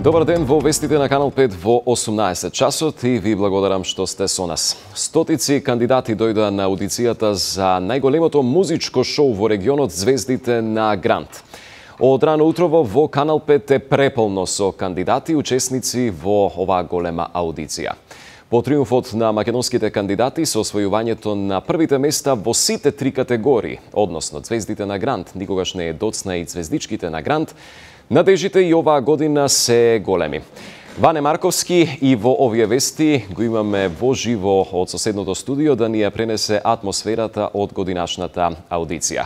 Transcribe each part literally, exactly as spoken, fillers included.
Добар ден во вестите на Канал пет во осумнаесет часот и ви благодарам што сте со нас. Стотици кандидати дојдоа на аудицијата за најголемото музичко шоу во регионот Звездите на Грант. Од рано утрово во Канал пет е преполно со кандидати и учесници во оваа голема аудиција. По триумфот на македонските кандидати со освојувањето на првите места во сите три категории, односно Звездите на Грант, никогаш не е доцна и Звездичките на Грант, надежите и оваа година се големи. Ване Марковски и во овие вести го имаме во живо од соседното студио да ни ја пренесе атмосферата од годинашната аудиција.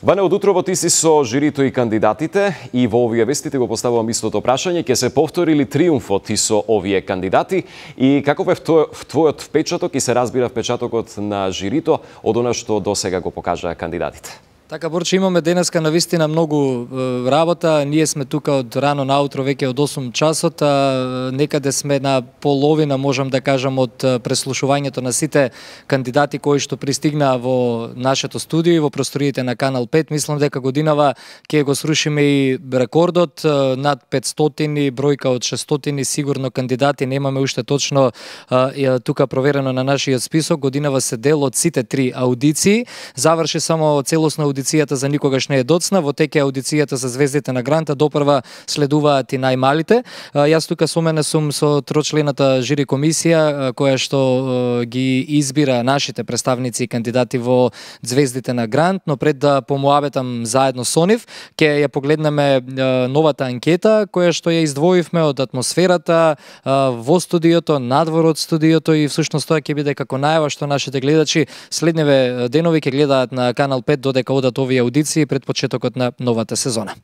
Ване, од утрово ти си со жирито и кандидатите и во овие вестите го поставувам истото прашање, ќе се повтори ли триумфот и со овие кандидати и каков е твојот впечаток и се разбира впечатокот на жирито од она што досега го покажаа кандидатите? Така, Борче, имаме денеска навистина многу е, работа. Ние сме тука од рано наутро, веќе од осум часот, а некаде сме на половина, можам да кажам, од преслушувањето на сите кандидати кои што пристигнаа во нашето студио и во просториите на Канал пет. Мислам дека годинава ќе го срушиме и рекордот, над петстотини, бројка од шестстотини сигурно кандидати, немаме уште точно а, тука проверено на нашиот список. Годинава се дел од сите три аудиции. Заврши само целосна аудиција Аудицијата за никогаш не е доцна, во теке аудицијата за Звездите на Гранта, допрва следуваат и најмалите. Јас тука со мене сум со трочлената жири комисија која што ги избира нашите представници и кандидати во Звездите на Грант, но пред да помуабетам заедно со нив, ќе ја погледнеме новата анкета која што ја издвоивме од атмосферата во студиото, надвор од студиото и всушност тоа ќе биде како најава што нашите гледачи следневе денови ќе гледаат на Канал пет додека одат овие аудиции пред почетокот на новата сезона.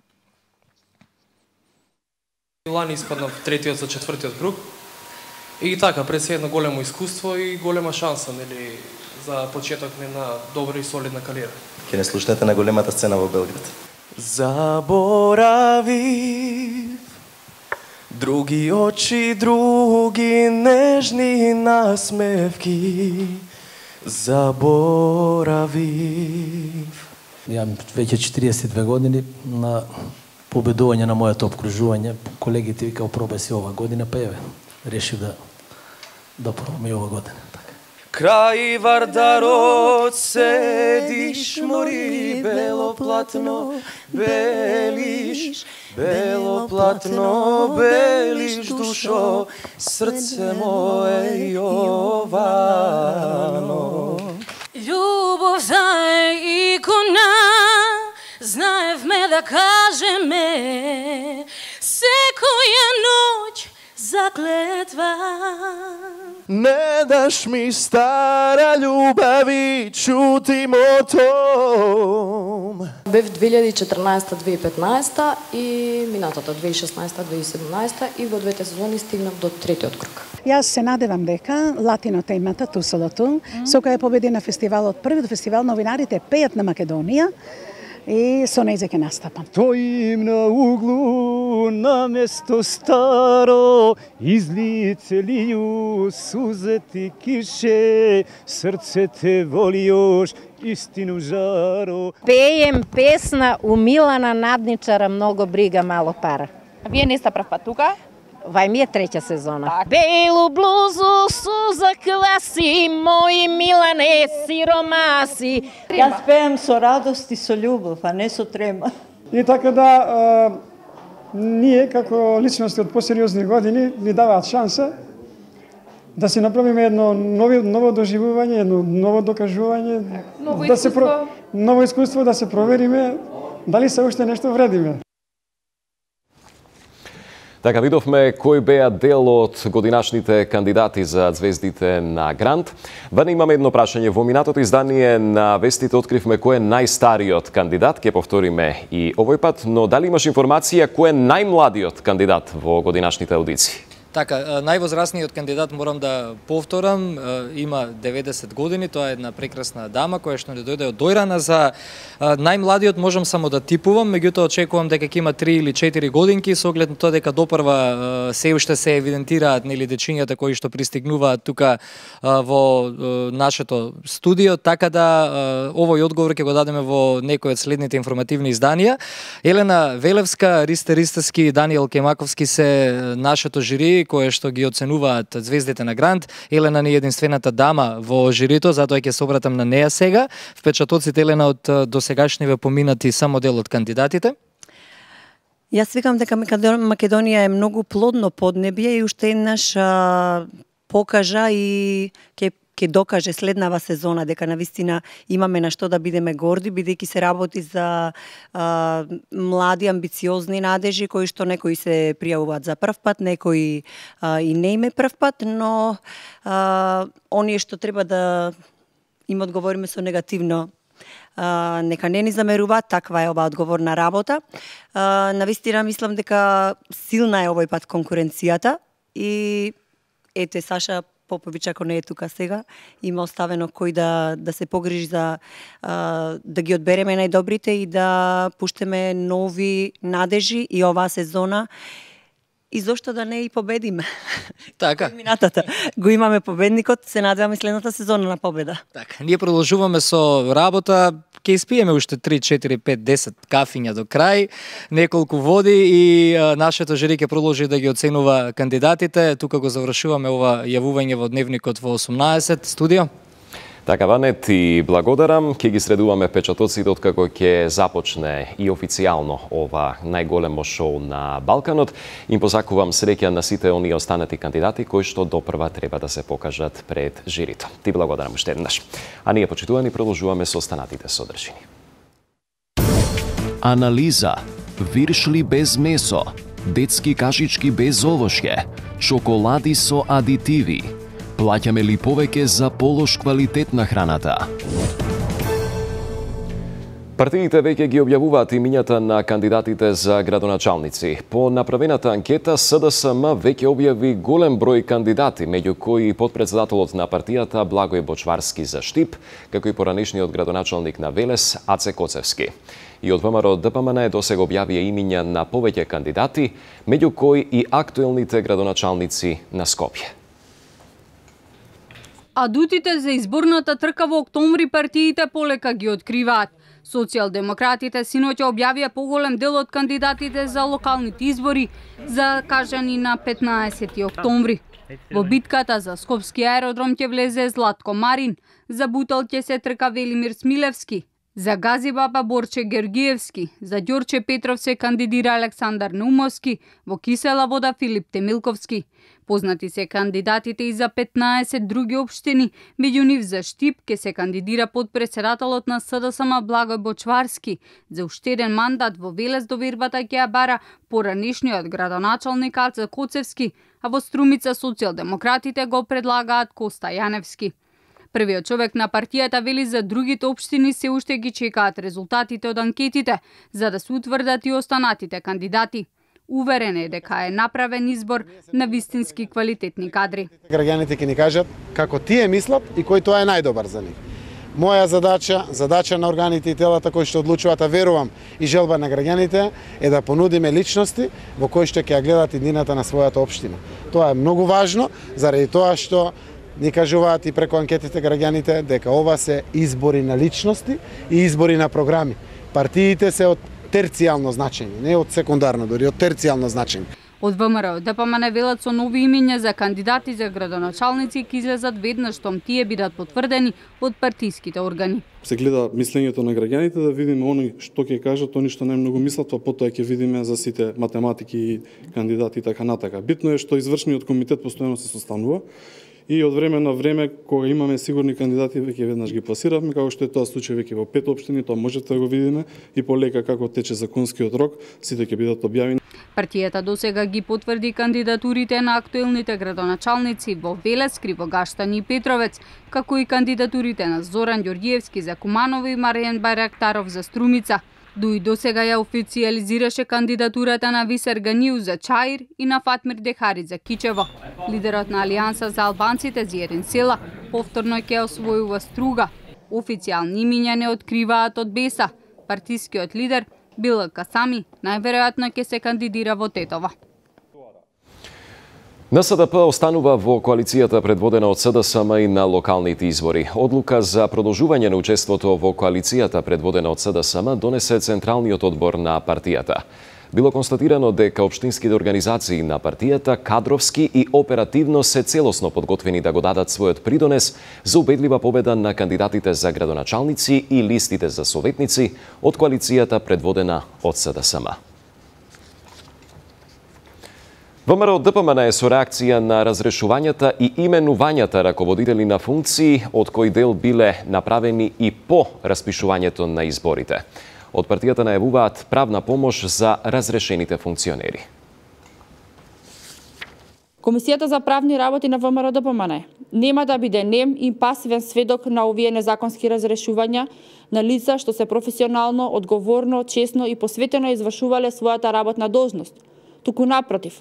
Лани испаднав третиот за четвртиот круг. И така, пред се едно големо искуство и голема шанса, нели, за почеток на добра и солидна кариера. Ќе не слушнете на големата сцена во Белград. Заборавив други очи, други нежни насмевки. Заборавив. Јам веќе четириесет и две години на победување на моето обкружување. Колегите вика пробај си ова година, па еве, решив да да пробам и ова година. Така. Крај Вардарот седиш, мори бело платно, белиш, бело платно, белиш душо, срце мое Јовано. Љубов за икона, знаевме да кажеме, секоја ноќ заклетва. Не даш ми стара љубави, чути мотом. Бев две илјади и четрнаесета - две илјади и петнаесета и минатата две илјади и шеснаесета - две илјади и седумнаесета и во двете сезони стигнав до третиот круг. Јас се надевам дека латино темата Тусолото, со која победи на фестивалот, првиот фестивал новинарите пеат на Македонија, и со нејзе ќе настапам. Стоим на углу, на место старо, излице лију сузети кише, срце те воли још, истину жаро. Пеем песна у Милана Надничара, многу брига, мало пара. А вие не сте прв пат тука? Вај ми е треќа сезона. Так. Белу блузу суза класи, мои Милане сиромаси. Јас пеем со радост и со љубов, а не со трема. И така да, а, ние како личности од посериозни години ни даваат шанса да си направиме едно ново, ново доживување, едно ново докажување, ново да искуство. се про, ново искуство, да се провериме дали се уште нешто вредиме. Така, видовме кои беа дел од годинашните кандидати за Звездите на Грант. Ване имаме едно прашање. Во минатото издание на вестите откривме кој е најстариот кандидат, ќе повториме и овој пат, но дали имаш информација кој е најмладиот кандидат во годинашните аудиции? Така, највозрасниот кандидат, морам да повторам, има деветдесет години, тоа е една прекрасна дама која што не дојде од Дојрана. За најмладиот можам само да типувам, меѓутоа очекувам дека ќе има три или четири годинки, со оглед на тоа дека допрва се уште се евидентираат нели дечињата кои што пристигнуваат тука во нашето студио, така да овој одговор ќе го дадеме во некој од следните информативни изданија. Елена Велевска, Ристе Ристевски, Даниел Кемаковски се нашето жири кое што ги оценуваат звездите на Грант. Елена не е единствената дама во жирито, затоа ќе се обратам на неа сега. Впечатоците, Елена, од досегашниве поминати само дел од кандидатите? Јас викам дека Македонија е многу плодно поднебје и уште еднаш а, покажа и ќе ќе докаже следнава сезона дека навистина имаме на што да бидеме горди, бидејќи се работи за а, млади, амбициозни надежи, кои што некои се пријавуваат за прв пат, некои а, и не име прв пат, но а, оние што треба да им одговориме со негативно, а, нека не ни замеруваат, таква е оваа одговорна работа. А, навистина мислам дека силна е овој пат конкуренцијата и ете Саша Попович, ако не е тука сега, има оставено кој да, да се погрижи за а, да ги одбереме најдобрите и да пуштеме нови надежи и оваа сезона. И зошто да не и победиме? Така. Минатата го имаме победникот, се надеваме следната сезона на победа. Така, ние продолжуваме со работа, ќе испиеме уште три, четири, пет, десет кафиња до крај, неколку води и а, нашето жири ќе продолжи да ги оценува кандидатите. Тука го завршуваме ова јавување во Дневникот во осумнаесет студио. Така, Ване, ти благодарам. Ќе ги средуваме печатоците откако ќе започне и официјално ова најголемо шоу на Балканот. Им позакувам среќа на сите оние останати кандидати кои што допрва треба да се покажат пред жирито. Ти благодарам уште еднаш. А ние, почитувани, продолжуваме со останатите содржини. Анализа. Виршли без месо. Детски кашички без овошје. Чоколади со адитиви. Плаќаме ли повеќе за полош квалитет на храната? Партиите веќе ги објавуваат имињата на кандидатите за градоначалници. По направената анкета, СДСМ веќе објави голем број кандидати, меѓу кои потпредседателот на партијата Благој Бочварски за Штип, како и поранешниот градоначалник на Велес Аце Коцевски. И од ВМРО ДПМН досега објавија имиња на повеќе кандидати, меѓу кои и актуелните градоначалници на Скопје. Адутите за изборната трка во октомври партиите полека ги откриваат. Социјалдемократите синоќа објавија поголем дел од кандидатите за локалните избори, закажани на петнаесети октомври. Во битката за Скопски аеродром ќе влезе Златко Марин, за Бутел ќе се трка Велимир Смилевски, за Газибаба Борче Георгиевски, за Ѓорче Петров се кандидира Александар Наумовски, во Кисела Вода Филип Темилковски. Познати се кандидатите и за петнаесет други општини, меѓу нив за Штип ке се кандидира подпредседателот на СДСМ Благој Бочварски. За уште еден мандат во Велес довербата ќе ја бара поранешниот градоначалник Аце Коцевски, а во Струмица социјалдемократите го предлагаат Коста Јаневски. Првиот човек на партијата вели за другите општини се уште ги чекаат резултатите од анкетите, за да се утврдат и останатите кандидати. Уверен е дека е направен избор на вистински квалитетни кадри. Граѓаните ќе ни кажат како тие мислат и кој тоа е најдобар за нив. Моја задача, задача на органите и телата кои што одлучуваат, а верувам и желба на граѓаните, е да понудиме личности во кои што ќе ја гледат иднината на својата општина. Тоа е многу важно, заради тоа што ни кажуваат и преку анкетите граѓаните дека ова се избори на личности и избори на програми. Партиите се од терцијално значење, не од секундарно, дори од терцијално значење. Од ВМРО ДПМН велат со нови имиња за кандидати за градоначалници ќе излезат веднаш штом тие бидат потврдени од партиските органи. Се гледа мислењето на граѓаните да видиме они што ќе кажат, они што најмногу мислат, па потоа ќе видиме за сите математики и кандидати така натака. Битно е што извршниот комитет постојано се состанува и од време на време, кога имаме сигурни кандидати, веќе веднаш ги пласиравме, како што е тоа случај веќе во пет општини, тоа можете да го видиме и полека како тече законскиот рок, сите ќе бидат објавени. Партијата досега ги потврди кандидатурите на актуелните градоначалници во Велес, Кривогаштани и Петровец, како и кандидатурите на Зоран Ѓорѓиевски за Куманово и Маријан Барактаров за Струмица. Дуи досега ја официализираше кандидатурата на Висер Ганиу за Чаир и на Фатмир Дехари за Кичево. Лидерот на Алијанса за албанците Зиерин Села повторно ќе освојува Струга. Официјални имиња не откриваат од Беса. Партискиот лидер Била Касами најверојатно ќе се кандидира во Тетово. Н С Д П останува во коалицијата предводена од С Д С М и на локалните избори. Одлука за продолжување на учеството во коалицијата предводена од С Д С М донесе Централниот одбор на партијата. Било констатирано дека општинските организации на партијата кадровски и оперативно се целосно подготвени да го дадат својот придонес за убедлива победа на кандидатите за градоначалници и листите за советници од коалицијата предводена од С Д С М. ВМРО Д П М Н е со реакција на разрешувањата и именувањата раководители на функции, од кои дел биле направени и по распишувањето на изборите. Од партијата најавуваат правна помош за разрешените функционери. Комисијата за правни работи на ВМРО Д П М Н нема да биде нем и пасивен сведок на овие незаконски разрешувања на лица што се професионално, одговорно, честно и посветено извршувале својата работна должност. Туку напротив,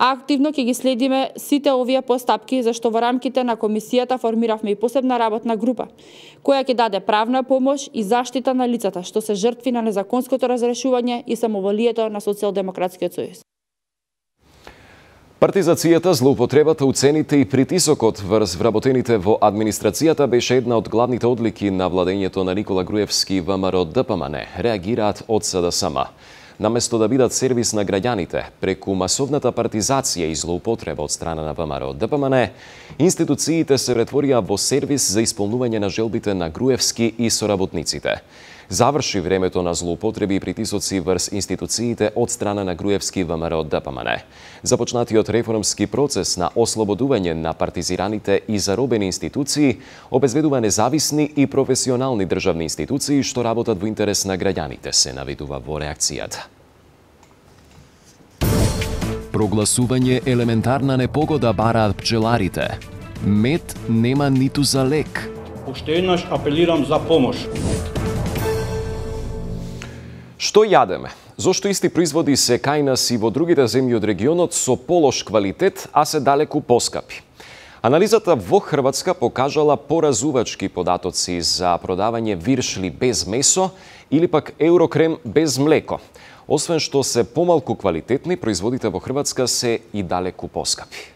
активно ќе ги следиме сите овие постапки, зашто во рамките на комисијата формиравме и посебна работна група, која ќе даде правна помош и заштита на лицата што се жртви на незаконското разрешување и самоволието на Социјалдемократскиот сојуз. Партизацијата, злоупотребата, уцените и притисокот врз вработените во администрацијата беше една од главните одлики на владењето на Никола Груевски и ВМРО Д П М Н, реагираат од С Д С М. Наместо да бидат сервис на граѓаните, преку масовната партизација и злоупотреба од страна на ВМРО Д П М Н, институциите се претворија во сервис за исполнување на желбите на Груевски и соработниците. Заврши времето на злоупотреби и притисоци врз институциите од страна на Груевски и ВМРО Д П М Н. Започнатиот реформски процес на ослободување на партизираните и заробени институции обезбедува независни и професионални државни институции што работат во интерес на граѓаните, се наведува во реакцијата. Прогласување елементарна непогода бараат пчеларите. Мед нема ниту за лек. Уште еднаш апелирам за помош. Што јадеме? Зошто исти производи се кај нас и во другите земји од регионот со полош квалитет, а се далеку поскапи? Анализата во Хрватска покажала поразувачки податоци за продавање виршли без месо или пак еврокрем без млеко. Освен што се помалку квалитетни, производите во Хрватска се и далеку поскапи.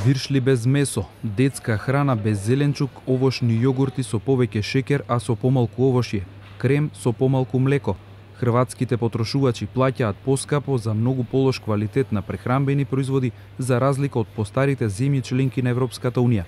Виршли без месо, детска храна без зеленчук, овошни јогурти со повеќе шекер, а со помалку овошје, крем со помалку млеко. Хрватските потрошувачи плаќаат поскапо за многу полош квалитет на прехранбени производи за разлика од постарите земји членки на Европската Унија.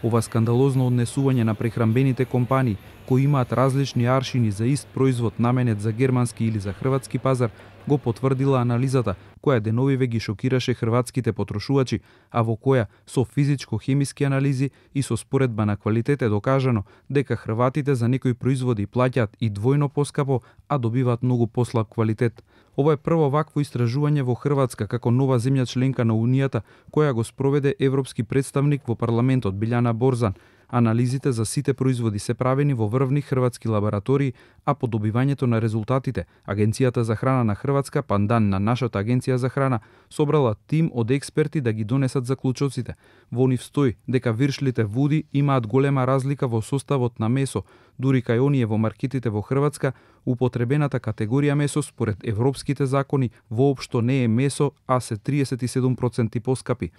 Ова скандалозно однесување на прехранбените компании, кои имаат различни аршини за ист производ наменет за германски или за хрватски пазар, го потврдила анализата, која деновиве ги шокираше хрватските потрошувачи, а во која со физичко-хемиски анализи и со споредба на квалитет е докажано дека хрватите за некои производи плаќаат и двојно поскапо, а добиваат многу послаб квалитет. Ова е прво вакво истражување во Хрватска како нова земја членка на Унијата, која го спроведе европски представник во парламентот Билјана Борзан. Анализите за сите производи се правени во врвни хрватски лаборатории, а по добивањето на резултатите, Агенцијата за храна на Хрватска, пандан на нашата Агенција за храна, собрала тим од експерти да ги донесат заклучоците. Во нив стои дека виршлите вуди имаат голема разлика во составот на месо, дури кај оние во маркетите во Хрватска, употребената категорија месо според европските закони воопшто не е месо, а се триесет и седум проценти поскапи.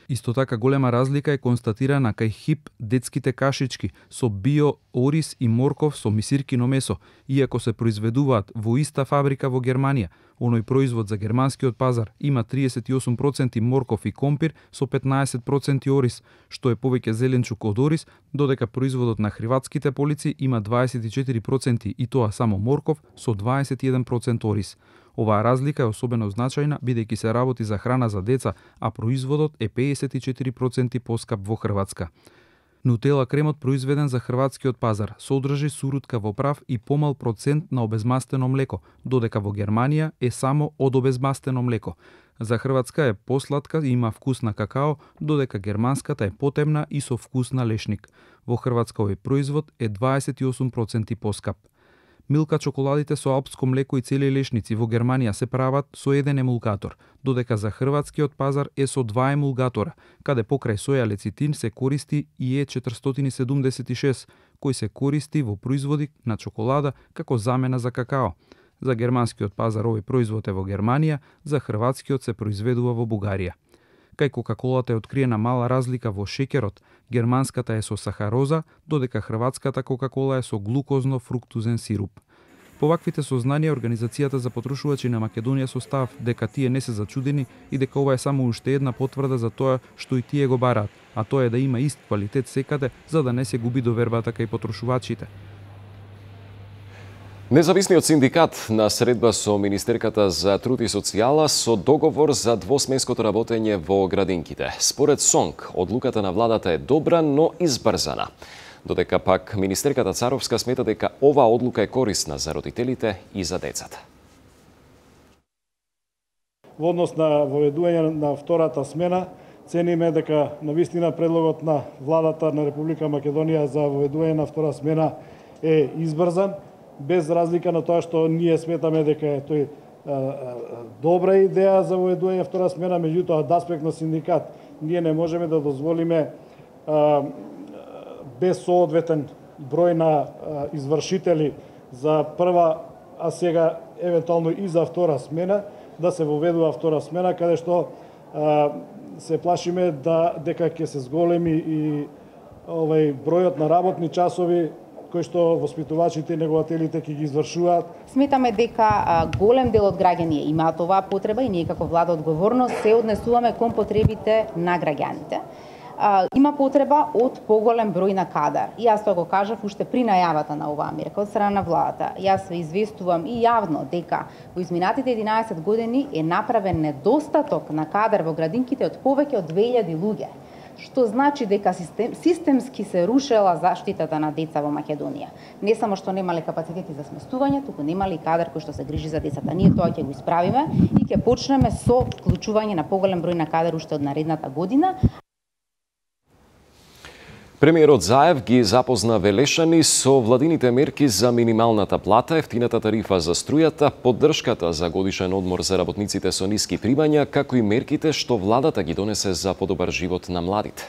Исто така голема разлика е констатирана кај хип детските кашички со био, ориз и морков со мисиркино месо, иако се произведуваат во иста фабрика во Германија. Оној производ за германскиот пазар има триесет и осум проценти морков и компир со петнаесет проценти ориз, што е повеќе зеленчук од ориз, додека производот на хрватските полици има дваесет и четири проценти и тоа само морков со дваесет и еден процент ориз. Оваа разлика е особено значајна бидејќи се работи за храна за деца, а производот е пеесет и четири проценти поскап во Хрватска. Нутела кремот произведен за хрватскиот пазар содржи сурутка во прав и помал процент на обезмастено млеко, додека во Германија е само од обезмастено млеко. За Хрватска е посладка и има вкус на какао, додека германската е потемна и со вкус на лешник. Во Хрватска овој производ е дваесет и осум проценти поскап. Милка чоколадите со алпско млеко и цели лешници во Германија се прават со еден емулгатор, додека за хрватскиот пазар е со два емулгатора, каде покрај соја лецитин се користи и Е четиристотини седумдесет и шест, кој се користи во производи на чоколада како замена за какао. За германскиот пазар овој производ е во Германија, за хрватскиот се произведува во Бугарија. Кај Кока-колата е откриена мала разлика во шеќерот, германската е со сахароза, додека хрватската Кока-кола е со глукозно-фруктузен сируп. По ваквите сознанија, Организацијата за потрошувачи на Македонија со став дека тие не се зачудени и дека ова е само уште една потврда за тоа што и тие го бараат, а тоа е да има ист квалитет секаде, за да не се губи довербата кај потрошувачите. Независниот синдикат на средба со Министерката за труд и социјала со договор за двосменското работење во градинките. Според СОНК, одлуката на владата е добра, но избрзана. Додека пак Министерката Царовска смета дека оваа одлука е корисна за родителите и за децата. Во однос на воведување на втората смена, цениме дека навистина предлогот на владата на Република Македонија за воведување на втора смена е избрзан, без разлика на тоа што ние сметаме дека е тој а, а, добра идеја за воведување втора смена, меѓутоа од аспект на синдикат ние не можеме да дозволиме а, без соодветен број на а, извршители за прва, а сега евентуално и за втора смена, да се воведува втора смена, каде што а, се плашиме да дека ќе се зголеми и овај бројот на работни часови кои што воспитувачите и негователите ќе ги извршуваат. Сметаме дека а, голем дел од граѓани имаат оваа потреба и ние како влада одговорност се однесуваме кон потребите на граѓаните. А, има потреба од поголем број на кадар. И јас тоа го кажав уште при најавата на оваа мерка од страна на владата. Јас ве известувам и јавно дека во изминатите единаесет години е направен недостаток на кадар во градинките од повеќе од две илјади луѓе, што значи дека систем, системски се рушела заштитата на деца во Македонија. Не само што немале капацитети за сместување, туку немале и кадар кој што се грижи за децата. Ние тоа ќе го исправиме и ќе почнеме со вклучување на поголем број на кадар уште од наредната година. Премиерот Заев ги запозна Велешани со владините мерки за минималната плата, ефтината тарифа за струјата, поддршката за годишен одмор за работниците со ниски примања, како и мерките што владата ги донесе за подобар живот на младите.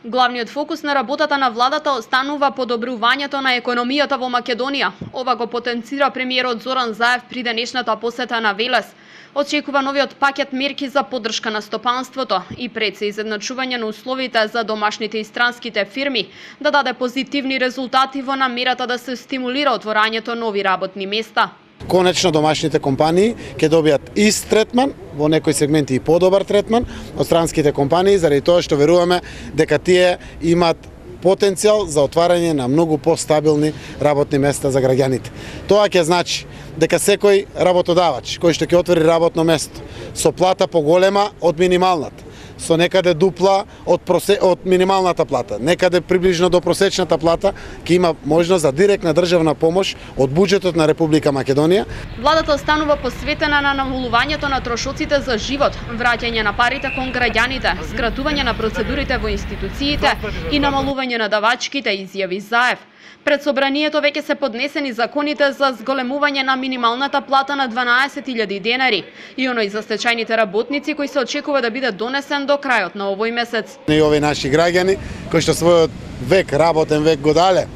Главниот фокус на работата на владата останува подобрувањето на економијата во Македонија. Ова го потенцира премиерот Зоран Заев при денешната посета на Велес. Очекува новиот пакет мерки за поддршка на стопанството и пред се изедначување на условите за домашните и странските фирми да даде позитивни резултати во намерата да се стимулира отворањето нови работни места. Конечно домашните компании ќе добијат ист третман, во некои сегменти и подобар третман од странските компании, заради тоа што веруваме дека тие имаат потенцијал за отварање на многу постабилни работни места за граѓаните. Тоа ќе значи дека секој работодавач кој што ќе отвори работно место со плата поголема од минималната, со некаде дупла од, просе... од минималната плата, некаде приближно до просечната плата, ќе има можност за директна државна помош од буџетот на Република Македонија. Владата останува посветена на намалувањето на трошоците за живот, враќање на парите кон граѓаните, скратување на процедурите во институциите и намалување на давачките, изјави Заев. Пред собранието веќе се поднесени законите за зголемување на минималната плата на дванаесет илјади денари и оној за стечајните работници кој се очекува да биде донесен до крајот на овој месец. И овие наши граѓани кои што својот век, работен век го дале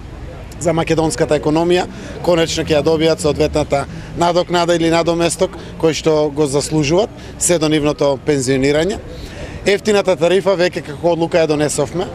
за македонската економија, конечно ќе ја добијат соодветната надокнада или надоместок кој што го заслужуваат се до нивното пензионирање. Ефтината тарифа веќе како одлука ја донесовме.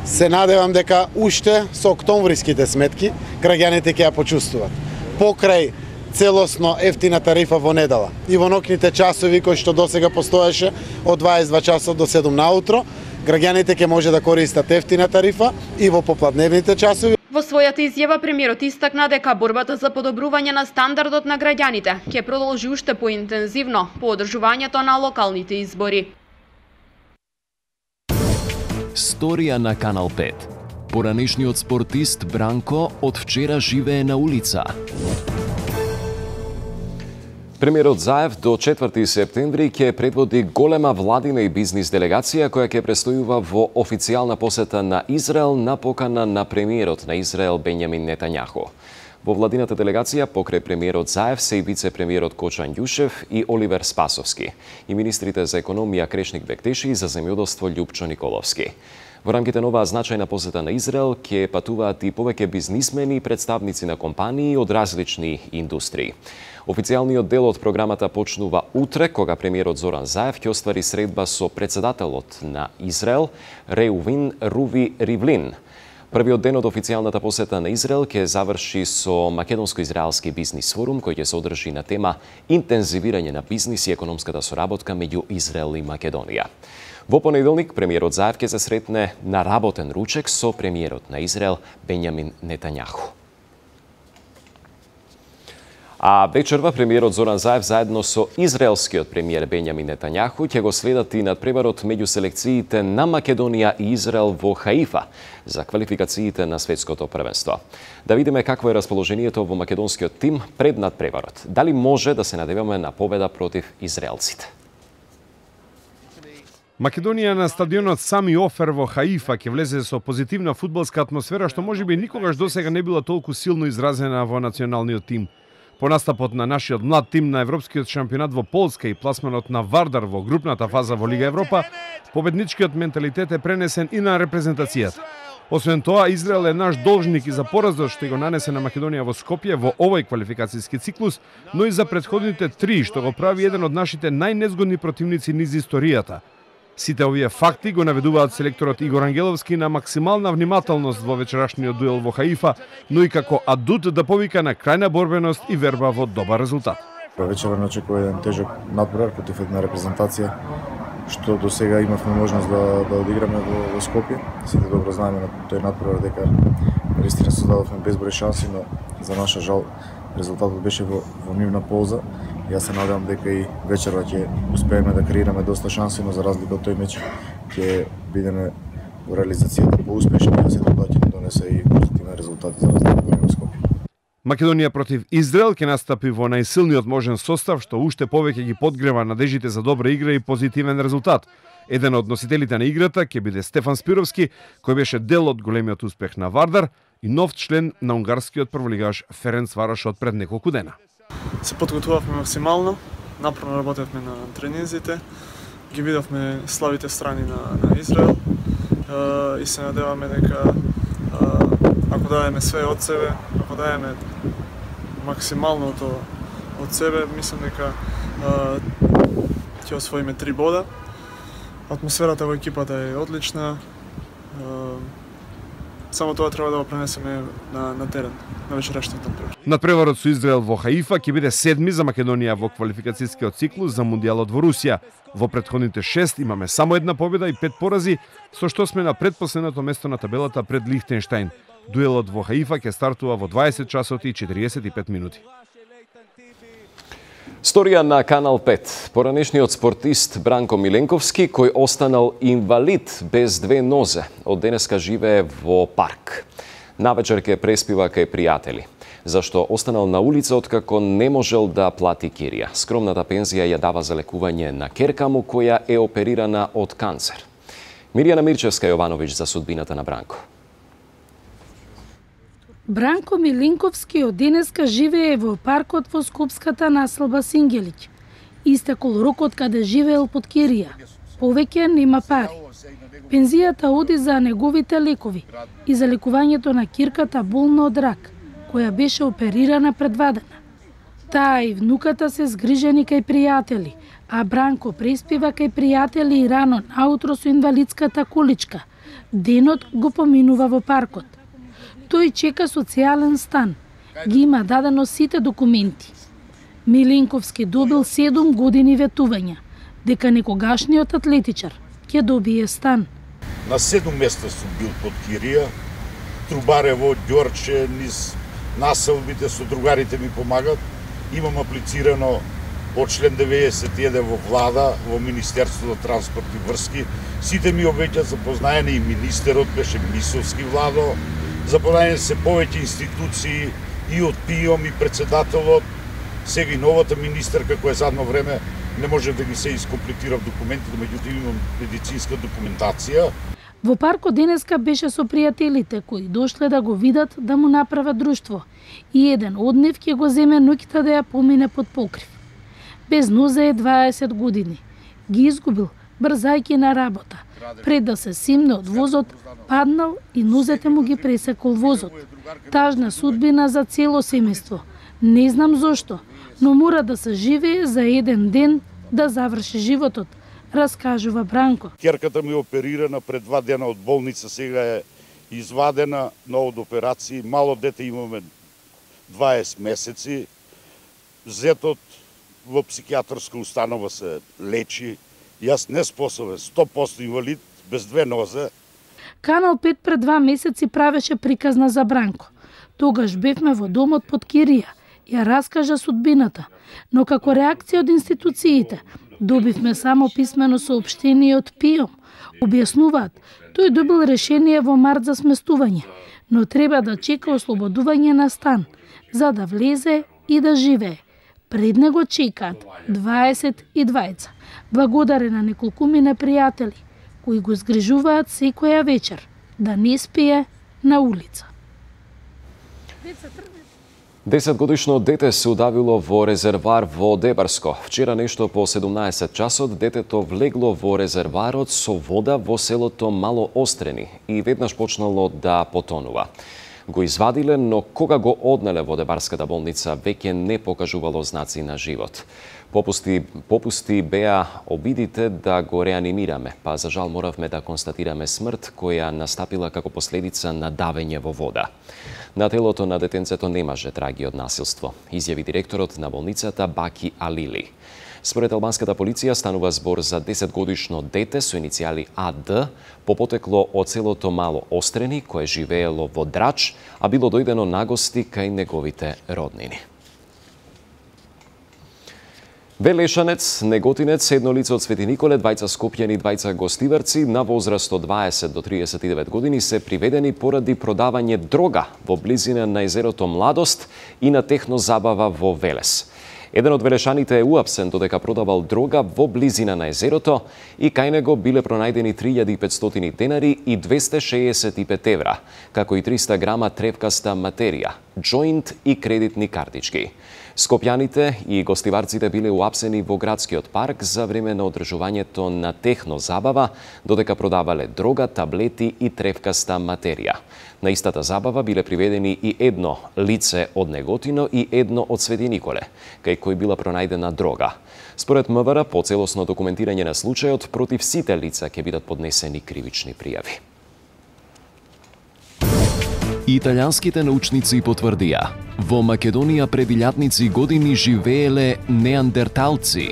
Се надевам дека уште со октомвриските сметки граѓаните ќе ја почувствуваат. Покрај целосно ефтина тарифа во недела и во ноќните часови кои што досега постоеше од дваесет и два часа до седум наутро, граѓаните ќе може да користат ефтина тарифа и во попладневните часови. Во својата изјава премиерот истакна дека борбата за подобрување на стандардот на граѓаните ќе продолжи уште поинтензивно по одржувањето на локалните избори. Сторија на Канал пет. Поранешниот спортист Бранко од вчера живее на улица. Премиерот Заев до четврти септември ќе предводи голема владина и бизнис делегација која ќе престојува во официјална посета на Израел на покана на премиерот на Израел Бенјамин Нетањаху. Во владината делегација покрај премиерот Заев се и вице-премиерот Кочан Ѓушев и Оливер Спасовски и министрите за економија Крешник Бектеши и за земјоделство Љупчо Николовски. Во рамките на оваа значајна посета на Израел ќе патуваат и повеќе бизнисмени и представници на компании од различни индустрии. Официјалниот дел од програмата почнува утре, кога премиерот Зоран Заев ќе оствари средба со председателот на Израел Реувин Руви Ривлин. Првиот ден од официјалната посета на Израел ќе заврши со македонско-израелски бизнис форум кој ќе се одржи на тема интензивирање на бизнис и економската соработка меѓу Израел и Македонија. Во понеделник премиерот Заев ќе се сретне на работен ручек со премиерот на Израел Бенјамин Нетањаху. А вечерва премиерот Зоран Заев заедно со израелскиот премиер Бенјамин Нетањаху ќе го следат и надпреварот меѓу селекциите на Македонија и Израел во Хаифа за квалификациите на светското првенство. Да видиме какво е расположението во македонскиот тим пред надпреварот. Дали може да се надеваме на победа против израелците? Македонија на стадионот Сами Офер во Хаифа ќе влезе со позитивна фудбалска атмосфера што можеби никогаш досега не била толку силно изразена во националниот тим. По настапот на нашиот млад тим на Европскиот шампионат во Полска и пласманот на Вардар во групната фаза во Лига Европа, победничкиот менталитет е пренесен и на репрезентацијата. Освен тоа, Израел е наш должник и за поразот што го нанесе на Македонија во Скопје во овој квалификацијски циклус, но и за претходните три, што го прави еден од нашите најнезгодни противници низ историјата. Сите овие факти го наведуваат селекторот Игор Ангеловски на максимална внимателност во вечерашниот дуел во Хаифа, но и како адут да повика на крајна борбеност и верба во добар резултат. Вечерва не очекува еден тежок надпревар против една репрезентација што до сега имавме можност да, да одиграме во, во Скопје. Сите добро знаеме на тој надпревар дека наистина создадовме безброј шанси, но за наша жал резултатот беше во, во нивна полза. Јас се надевам дека и вечерва ќе успееме да креираме доста шанси, но за разлика од тој меч ќе бидеме во реализацијата поуспешни и сето тоа ќе ни донесе и позитивни резултати за разлика од Скопје. Македонија против Израел ќе настапи во најсилниот можен состав, што уште повеќе ги подгрева надежите за добра игра и позитивен резултат. Еден од носителите на играта ќе биде Стефан Спировски, кој беше дел од големиот успех на Вардар и нов член на унгарскиот прволигаш Ференц Варош од пред неколку дена. Се подготвувавме максимално, напорно работевме на тренинзите, ги видовме слабите страни на, на Израел и се надеваме дека ако даеме све од себе, ако даеме максималното од себе, мислам дека ќе освоиме три бода. Атмосферата во екипата е одлична. Само тоа треба да го пренесеме на, на терен, на вечерашниот надпревар. Надпреварот со Израел во Хаифа ќе биде седми за Македонија во квалификацијскиот циклус за Мундијалот во Русија. Во претходните шест имаме само една победа и пет порази, со што сме на предпоследното место на табелата пред Лихтенштајн. Дуелот во Хаифа ќе стартува во дваесет часот и четириесет и пет минути. Сторија на Канал пет. Поранешниот спортист Бранко Миленковски, кој останал инвалид без две нозе, од денеска живее во парк. Навечер ке преспива кај пријатели, зашто останал на улица откако не можел да плати кирија. Скромната пензија ја дава за лекување на керка му, која е оперирана од канцер. Мирјана Мирчевска Јовановиќ за судбината на Бранко. Бранко Милинковски од денеска живее во паркот во скопската населба Сингелиќ. Истекол рокот каде живеел под кирија. Повеќе нема пари. Пензијата оди за неговите лекови и за лекувањето на кирката болна од рак, која беше оперирана предвадена. Таа и внуката се згрижени кај пријатели, а Бранко преспива кај пријатели и рано наутро со инвалидската количка. Денот го поминува во паркот. Тој чека социјален стан. Ги има дадено сите документи. Милинковски добил седум години ветувања, дека некогашниот атлетичар ќе добие стан. На седум места сум бил под кирија, Трубарево, Ѓорче, низ населбите со другарите ми помагат. Имам аплицирано од член деветдесет и еден во влада, во Министерството за транспорт и врски. Сите ми обеќаат запознаени, и министерот беше Мисовски Владо, запознаени се повеќе институции и од ПИОМ и председателот. Сега и новата министерка која задно време не може да ги се искомплетира в документите, меѓутоа имам медицинска документација. Во паркот денеска беше со пријателите кои дошле да го видат да му направат друштво и еден од нив ќе го земе ноќта да ја помине под покрив. Без нозе е дваесет години. Ги изгубил брзајќи на работа. Пред да се симне од возот, паднал и нозете му ги пресекол возот. Тажна судбина за цело семејство. Не знам зошто, но мора да се живее за еден ден да заврши животот, раскажува Бранко. Керката ми оперирана пред два дена од болница, сега е извадена на од операции. Мало дете имаме дваесет месеци. Зетот во психијатарска установа се лечи. Јас не способен, сто проценти инвалид, без две нозе. Канал пет пред два месеци правеше приказна за Бранко. Тогаш бевме во домот под Кирија, ја раскажа судбината, но како реакција од институциите, добивме само писмено соопштение од ПИОМ. Објаснуваат, тој добил решение во март за сместување, но треба да чека ослободување на стан, за да влезе и да живее. Пред него чекаат дваесет и двајца, благодарен на неколкумина пријатели, кои го згрижуваат секоја вечер, да не спие на улица. Десетгодишно дете се удавило во резервар во Дебарско. Вчера нешто по седумнаесет часот детето влегло во резерварот со вода во селото Мало Острени и веднаш почнало да потонува. Го извадиле, но кога го однеле во Дебарската болница, веќе не покажувало знаци на живот. Попусти, попусти беа обидите да го реанимираме, па за жал моравме да констатираме смрт која настапила како последица на давење во вода. На телото на детенцето немаше траги од насилство, изјави директорот на болницата Баки Алили. Според албанската полиција станува збор за десетгодишно дете со иницијали А Д, по потекло од селото Мало Острени, кое живеело во Драч, а било дојдено на гости кај неговите роднини. Велешанец, Неготинец, едно лице од Свети Николе, двајца скопјани, двајца гостиварци на возраст од дваесет до триесет и девет години се приведени поради продавање дрога во близина на езерото Младост и на технозабава во Велес. Еден од велешаните е уапсен додека продавал дрога во близина на езерото и кај него биле пронајдени три илјади и петстотини денари и двесте шеесет и пет евра, како и триста грама тревкаста материја, џоинт и кредитни картички. Скопјаните и гостиварците биле уапсени во градскиот парк за време на одржувањето на технозабава, додека продавале дрога, таблети и тревкаста материја. На истата забава биле приведени и едно лице од Неготино и едно од Свети Николе, кај кој била пронајдена дрога. Според МВР, по целосно документирање на случајот, против сите лица ќе бидат поднесени кривични пријави. Италијанските научници потврдија, во Македонија пред илјадници години живееле неандерталци.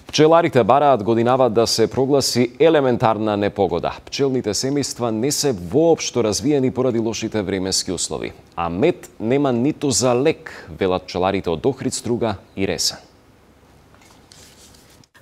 Пчеларите бараат годинава да се прогласи елементарна непогода. Пчелните семејства не се воопшто развиени поради лошите временски услови. А мед нема ниту за лек, велат пчеларите од Охрид, Струга и Ресен.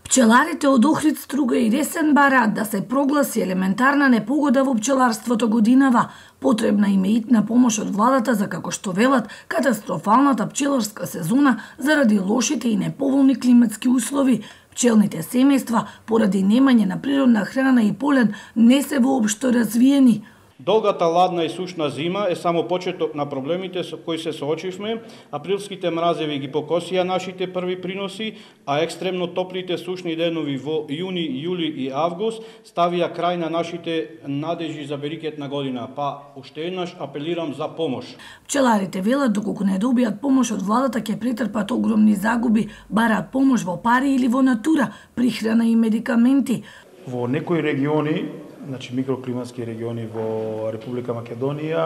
Пчеларите од Охрид, Струга и Ресен бараат да се прогласи елементарна непогода во пчеларството годинава. Потребна им е итна помош од владата за, како што велат, катастрофалната пчеларска сезона заради лошите и неповолни климатски услови. Пчелните семејства, поради немање на природна храна и полен, не се воопшто развиени. Долгата ладна и сушна зима е само почеток на проблемите со кои се соочивме. Априлските мразеви ги покосија нашите први приноси, а екстремно топлите сушни денови во јуни, јули и август ставија крај на нашите надежи за берикетна година. Па уште еднаш апелирам за помош. Пчеларите велат доколку не добијат помош од владата ќе претрпат огромни загуби, бараат помош во пари или во натура, прихрана и медикаменти. Во некои региони, значи микроклиматски региони во Република Македонија,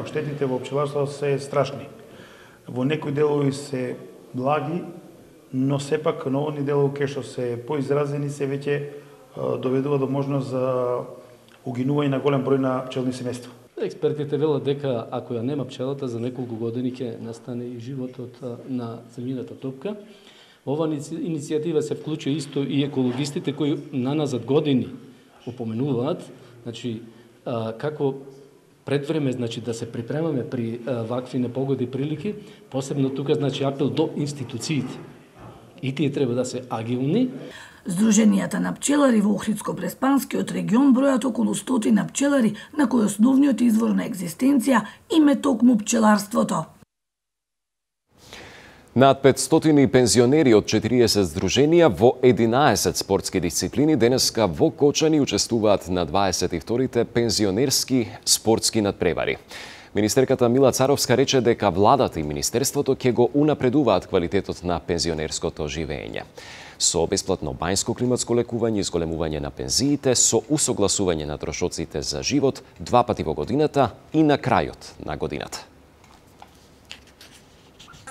штетите во пчеларството се страшни. Во некои делови се благи, но сепак на овој делови кај што се поизразени се веќе доведува до можност за угинување на голем број на пчелни семејства. Експертите велат дека ако ја нема пчелата за неколку години ќе настане и животот на земјината топка. Ова иницијатива се вклучува исто и екологистите кои наназад години упоменуваат, значи, а, како пред време, значи да се припремаме при а, вакви непогоди прилики, посебно тука, значи апел до институциите. И тие треба да се агилни. Сдруженијата на пчелари во Охридско-Преспанскиот регион бројат околу стотина пчелари на кои основниот извор на екзистенција им е токму пчеларството. Над петстотини пензионери од четириесет здруженија во единаесет спортски дисциплини денеска во Кочани учествуваат на дваесет и вторите пензионерски спортски надпревари. Министерката Мила Царовска рече дека владата и министерството ќе го унапредуваат квалитетот на пензионерското живење. Со бесплатно бањско климатско лекување, изголемување на пензиите, со усогласување на трошоците за живот два пати во годината и на крајот на годината.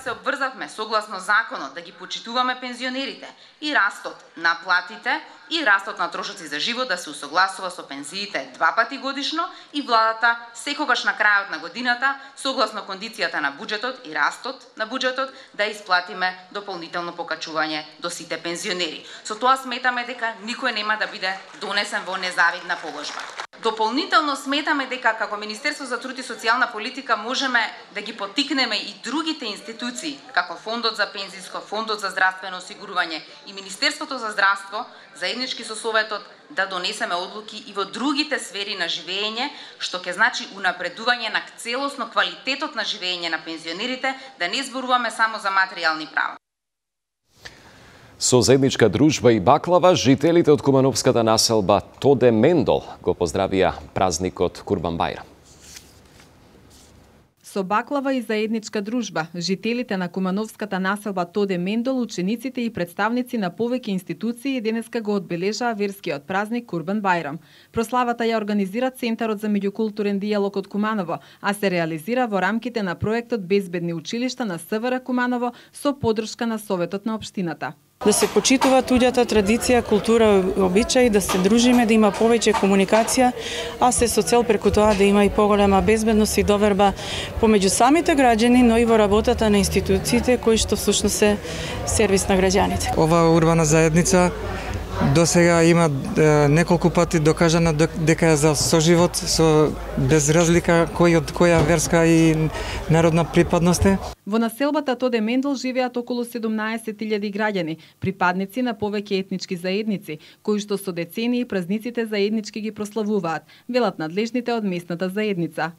Се обврзавме согласно законот да ги почитуваме пензионерите и растот на платите и растот на трошоци за живот да се усогласува со пензиите два пати годишно и владата секогаш на крајот на годината согласно кондицијата на буџетот и растот на буџетот да исплатиме дополнително покачување до сите пензионери. Со тоа сметаме дека никој нема да биде донесен во незавидна положба. Дополнително сметаме дека како Министерство за труд и социјална политика можеме да ги поттикнеме и другите институции, како Фондот за пензиско, Фондот за здравствено осигурување и Министерството за здравство, заеднички со Советот да донесеме одлуки и во другите сфери на живење, што ќе значи унапредување на целосно квалитетот на живење на пензионерите, да не зборуваме само за материјални права. Со заедничка дружба и баклава, жителите од кумановската населба Тоде Мендол го поздравија празникот Курбан Бајрам. Со баклава и заедничка дружба, жителите на кумановската населба Тоде Мендол, учениците и представници на повеќе институции денеска го одбележаа верскиот празник Курбан Бајрам. Прославата ја организира Центарот за меѓукултурен дијалог од Куманово, а се реализира во рамките на проектот Безбедни училишта на СВР Куманово со поддршка на Советот на општината. Да се почитува туѓата традиција, култура, обичаи, да се дружиме, да има повеќе комуникација, а се со цел преку тоа да има и поголема безбедност и доверба помеѓу самите граѓани, но и во работата на институциите кои што всушност се сервис на граѓаните. Оваа урбана заедница до сега има е, неколку пати докажано дека е за соживот со без разлика кој од која верска и народна припадност е. Во населбата Тоде Мендол живеат околу седумнаесет илјади граѓани, припадници на повеќе етнички заедници, кои што со децении празниците заеднички ги прославуваат, велат надлежните од местната заедница.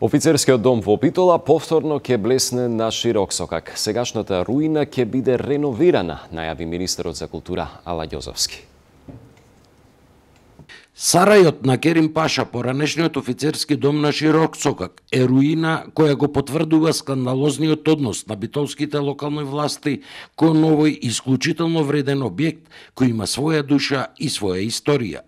Офицерскиот дом во Битола повторно ќе блесне на широк сокак. Сегашната руина ќе биде реновирана, најави министерот за култура Ала Ѓозовски. Сарајот на Керим Паша, поранешниот офицерски дом на широк сокак, е руина која го потврдува скандалозниот однос на битолските локални власти кон овој исклучително вреден објект кој има своја душа и своја историја.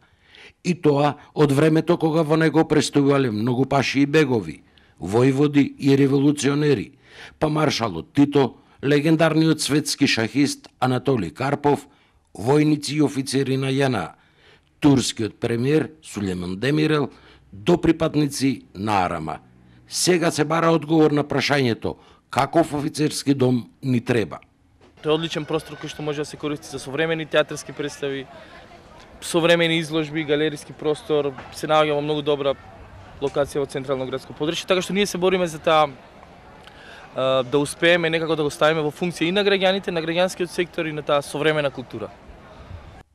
И тоа од времето кога во него престојувале многу паши и бегови, војводи и револуционери, па маршалот Тито, легендарниот светски шахист Анатолий Карпов, војници и офицери на ЈНА, турскиот премиер Сулеман Демирел, до припадници на Арама. Сега се бара одговор на прашањето каков офицерски дом ни треба. Тоа е одличен простор кој што може да се користи за современи театарски представи, современи изложби, галериски простор, се наоѓа во многу добра локација во централно градско подрачје, така што ние се бориме за таа да успееме некако да го ставиме во функција и на граѓаните, на граѓанскиот сектор и на таа современа култура.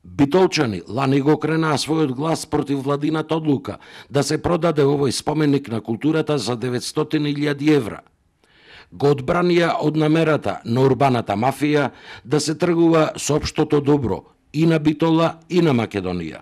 Битолчани лани го кренаа својот глас против владината одлука да се продаде овој споменик на културата за деветстотини илјади евра. Го одбранија од намерата на урбаната мафија да се тргува со општото добро и на Битола и на Македонија.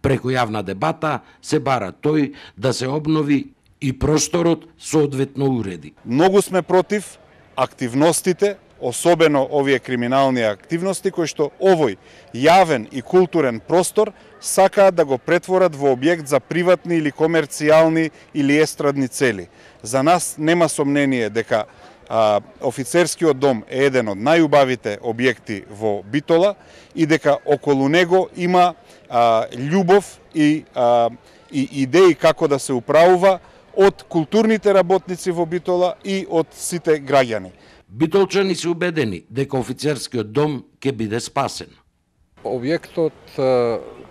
Преку јавна дебата се бара тој да се обнови и просторот соодветно уреди. Многу сме против активностите, особено овие криминални активности кои што овој јавен и културен простор сакаат да го претворат во објект за приватни или комерцијални или естрадни цели. За нас нема сомнение дека а, офицерскиот дом е еден од најубавите објекти во Битола и дека околу него има а, љубов и, а, и идеи како да се управува од културните работници во Битола и од сите граѓани. Битолчани се убедени дека офицерскиот дом ќе биде спасен. Објектот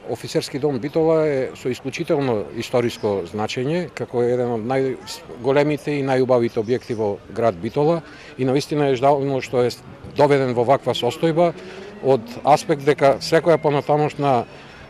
Офицерски дом Битола е со исклучително историско значење, како еден од најголемите и најубавите објекти во град Битола и навистина е жално што е доведен во ваква состојба од аспект дека секоја понатамошна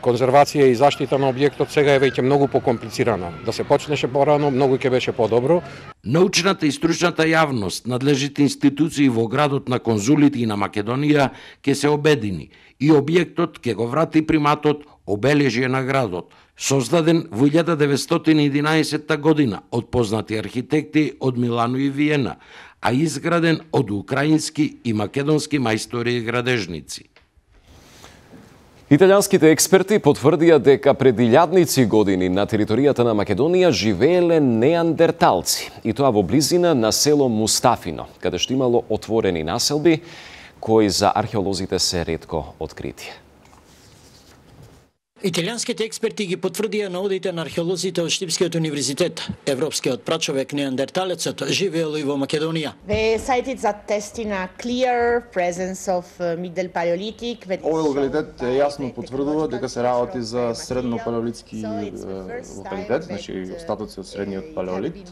конзервација и заштита на објектот сега е веќе многу покомплицирана. Да се почнеше порано, многу ќе беше подобро. Научната и стручната јавност, надлежните институции во градот на конзулите и на Македонија ќе се обедини и објектот ќе го врати приматот обележје на градот, создаден во илјада деветстотини и единаесетта година од познати архитекти од Милано и Виена, а изграден од украински и македонски мајстори и градежници. Италијанските експерти потврдија дека пред илјадници години на територијата на Македонија живееле неандерталци, и тоа во близина на село Мустафино, каде што имало отворени населби кои за археолозите се ретко открити. Италијанските експерти ги потврдија наодите на археолозите од Штипскиот универзитет. Европскиот прачовек неандерталецот живеел и во Македонија. The site is attesting a clear presence of Middle Paleolithic. Овој локалитет јасно потврдува дека се работи за средно палеолитски локалитет, значи остатоци од средниот палеолит,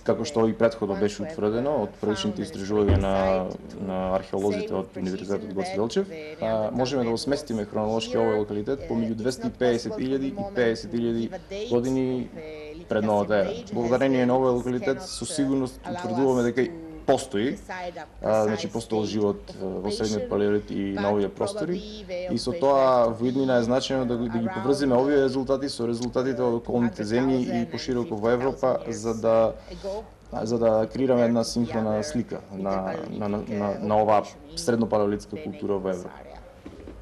како што и претходно беше утврдено од првичните истражувања на на археолозите од Универзитетот Гоце Делчев. Можеме да го сместиме хронолошки овој локалитет помеѓу двесте и педесет илјади и педесет илјади години пред новата ера. Благодарение на овој локалитет со сигурност утврдуваме дека постои, а, значи постоел живот во средниот палеолит и на овие простори, и со тоа во иднина е значено да, да ги поврзиме овие резултати со резултатите од околните земји и пошироко во Европа, за да за да креираме една синхрона слика на на на, на, на оваа среднопалеолитска култура во Европа.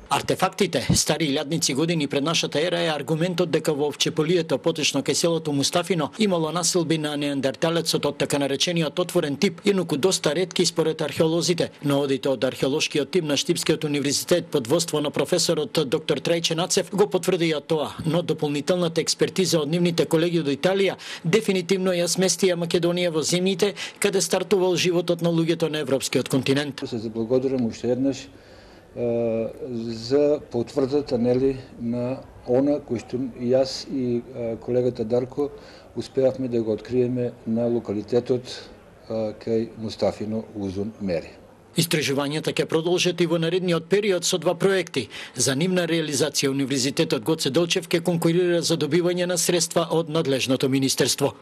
Артефактите, стари илјадници години пред нашата ера, е аргументот дека во Овчеполието, поточно кај селото Мустафино, имало населби на неандерталецот од така наречениот отворен тип, инаку доста ретки според археолозите. Наодите од археолошкиот тим на Штипскиот универзитет под воство на професорот доктор Трајче Нацев го потврдија тоа, но дополнителната експертиза од нивните колеги од Италија дефинитивно ја сместија Македонија во земјите каде стартувал животот на луѓето на европскиот континент. Се заблагодарам уште еднаш за потврдата, нели, на она кој што и јас и колегата Дарко успеавме да го откриеме на локалитетот кај Мустафино Узун Мери. Истражувањата ќе продолжат и во наредниот период со два проекти. За нивна реализација Универзитетот Гоце Делчев ќе конкурира за добивање на средства од надлежното министерство.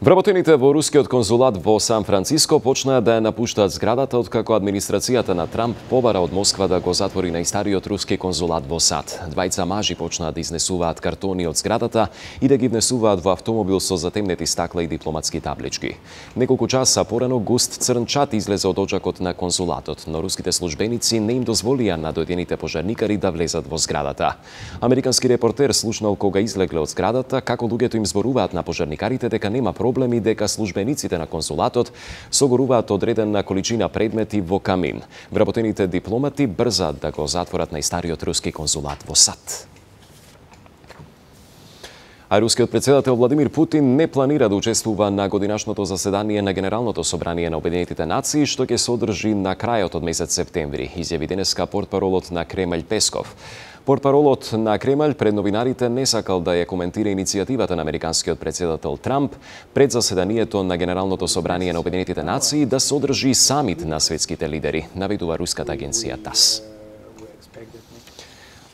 Вработените во рускиот конзулат во Сан Франциско почнаа да ја напуштаат зградата откако администрацијата на Трамп побара од Москва да го затвори најстариот руски конзулат во САД. Двајца мажи почнаа да изнесуваат картони од зградата и да ги внесуваат во автомобил со затемнети стакла и дипломатски таблички. Неколку часа порано густ црн чат излезе од очакот на конзулатот, но руските службеници не им дозволија на дојдените пожарникари да влезат во зградата. Американски репортер слушнал кога излегле од зградата како луѓето им зборуваат на пожарникарите дека нема проблеми, дека службениците на консулатот согоруваат одредена количина предмети во камин. Вработените дипломати брзаат да го затворат најстариот руски консулат во САД. А рускиот председател Владимир Путин не планира да учествува на годинашното заседание на Генералното собрание на Обединетите нации, што ќе се одржи на крајот од месец септември, изјави денеска портпаролот на Кремљ Песков. Портпаролот на Кремљ пред новинарите не сакал да ја коментира иницијативата на американскиот председател Трамп пред заседанието на Генералното собрание на Обединетите нации да се одржи самит на светските лидери, наведува руската агенција ТАСС.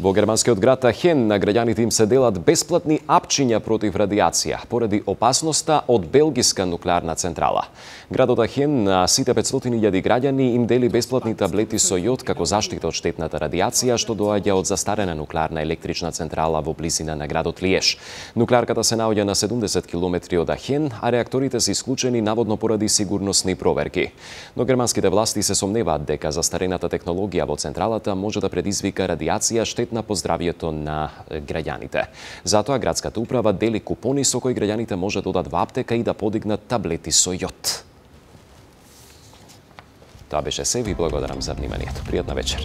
Во германскиот град Ахен на граѓаните им се делат бесплатни апчиња против радиација поради опасноста од белгиска нуклеарна централа. Градот Ахен на сите петстотини илјади граѓани им дели бесплатни таблети со јод како заштита од штетната радиација што доаѓа од застарена нуклеарна електрична централа во близина на градот Лиеж. Нуклеарката се наоѓа на седумдесет километри од Ахен, а реакторите се исклучени наводно поради сигурносни проверки. Но германските власти се сомневаат дека застарената технологија во централата може да предизвика радиација штетна по здравието на граѓаните. Затоа градската управа дели купони со кои граѓаните може да одат во аптека и да подигнат таблети со јод. Тоа беше се, ви благодарам за вниманието. Пријатна вечер.